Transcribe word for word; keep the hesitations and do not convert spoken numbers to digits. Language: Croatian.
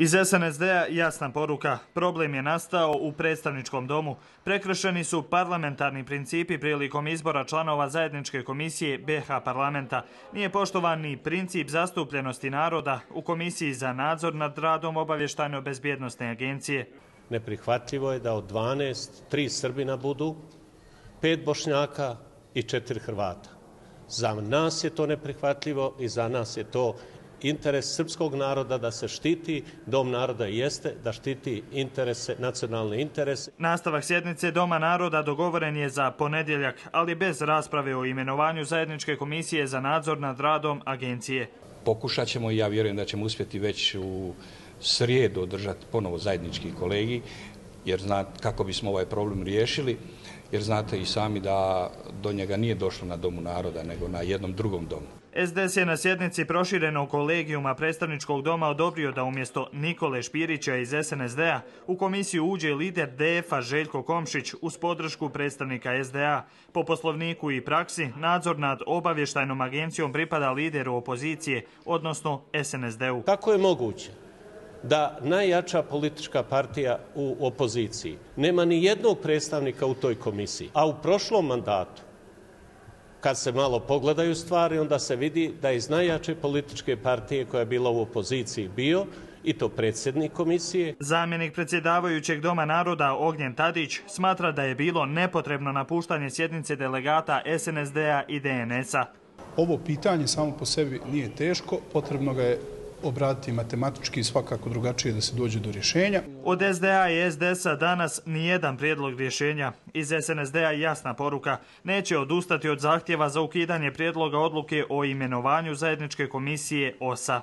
Iz es en es de-a jasna poruka. Problem je nastao u predstavničkom domu. Prekršeni su parlamentarni principi prilikom izbora članova zajedničke komisije be ha parlamenta. Nije poštovan ni princip zastupljenosti naroda u Komisiji za nadzor nad radom obavještajno-bezbjednosne agencije. Neprihvatljivo je da od dvanaest, tri Srbina budu, pet Bošnjaka i četiri Hrvata. Za nas je to neprihvatljivo i za nas je to interes srpskog naroda da se štiti. Dom naroda jeste da štiti interese, nacionalne interese. Nastavak sjednice Doma naroda dogovoren je za ponedjeljak, ali bez rasprave o imenovanju zajedničke komisije za nadzor nad radom agencije. Pokušat ćemo i ja vjerujem da ćemo uspjeti već u srijedu održati ponovo zajednički kolegij, jer znate kako bismo ovaj problem riješili, jer znate i sami da do njega nije došlo na Domu naroda, nego na jednom drugom domu. es de es je na sjednici proširenog kolegijuma predstavničkog doma odobrio da umjesto Nikole Špirića iz es en es de-a u komisiju uđe lider de ef-a Željko Komšić uz podršku predstavnika es de a. Po poslovniku i praksi, nadzor nad obavještajnom agencijom pripada lideru opozicije, odnosno es en es de-u. Kako je moguće da najjača politička partija u opoziciji nema ni jednog predstavnika u toj komisiji, a u prošlom mandatu, kad se malo pogledaju stvari, onda se vidi da iz najjače političke partije koja je bila u opoziciji bio i to predsjednik komisije. Zamjenik predsjedavajućeg Doma naroda Ognjen Tadić smatra da je bilo nepotrebno napuštanje sjednice delegata es en es de-a i de en es-a. Ovo pitanje samo po sebi nije teško, potrebno ga je obraditi matematički i svakako drugačije da se dođe do rješenja. Od es de a i es de es-a danas nijedan prijedlog rješenja. Iz es en es de-a jasna poruka. Neće odustati od zahtjeva za ukidanje prijedloga odluke o imenovanju zajedničke komisije o es a.